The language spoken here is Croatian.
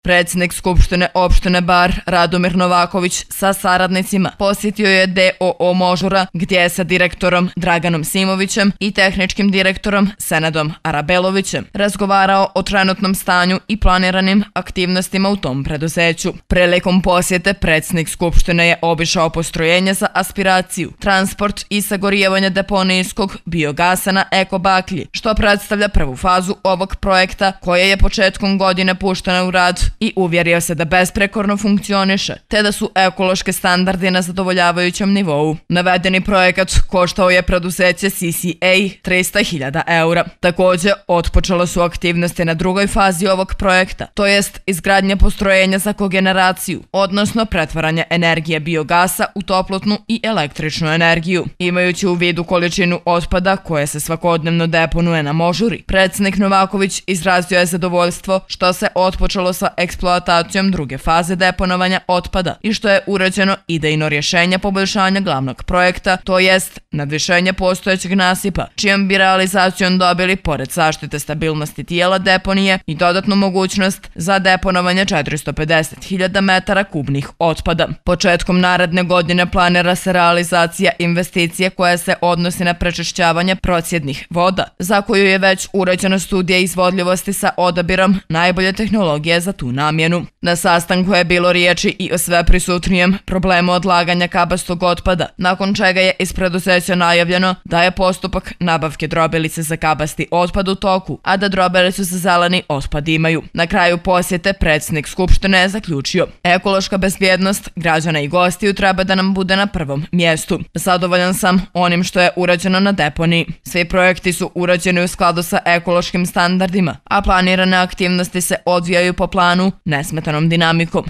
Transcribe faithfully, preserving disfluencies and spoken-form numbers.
Predsjednik Skupštine opštine Bar Radomir Novaković sa saradnicima posjetio je D O O Možura gdje je sa direktorom Draganom Simovićem i tehničkim direktorom Senadom Arabelovićem razgovarao o trenutnom stanju i planiranim aktivnostima u tom preduzeću. Prilikom posjete predsjednik Skupštine je obišao postrojenje za aspiraciju, transport i sagorijevanje deponijskog biogasa na Eko Baklji, što predstavlja prvu fazu ovog projekta koja je početkom godine puštena u rad i uvjerio se da besprekorno funkcioniše, te da su ekološke standardi na zadovoljavajućem nivou. Navedeni projekat koštao je preduzeće C C A trista hiljada eura. Također, otpočelo su aktivnosti na drugoj fazi ovog projekta, to jest izgradnja postrojenja za kogeneraciju, odnosno pretvaranje energije biogasa u toplotnu i električnu energiju. Imajući u vidu količinu otpada koje se svakodnevno deponuje na Možuri, predsjednik Novaković izrazio je zadovoljstvo što se otpočelo sa eksploatacijom druge faze deponovanja otpada i što je urađeno idejno rješenje poboljšanja glavnog projekta, to jest nadvišenje postojećeg nasipa, čijom bi realizacijom dobili, pored zaštite stabilnosti tijela deponije, i dodatnu mogućnost za deponovanje četiristo pedeset hiljada metara kubnih otpada. Početkom naredne godine planira se realizacija investicije koja se odnosi na prečišćavanje procjednih voda, za koju je već urađena studija izvodljivosti sa odabirom najbolje tehnologije za tu namjenu. Na sastanku je bilo riječi i o sve prisutnijem problemu odlaganja kabastog otpada, nakon čega je iz preduzeća najavljeno da je postupak nabavke drobilice za kabasti otpad u toku, a da drobilicu za zeleni otpad imaju. Na kraju posjete predsjednik Skupštine je zaključio: ekološka bezbjednost građana i gostiju treba da nam bude na prvom mjestu. Zadovoljan sam onim što je urađeno na deponiji. Svi projekti su urađeni u skladu sa ekološkim standardima, a planirane aktivnosti se odvijaju po planu nesmetanom dinamikom.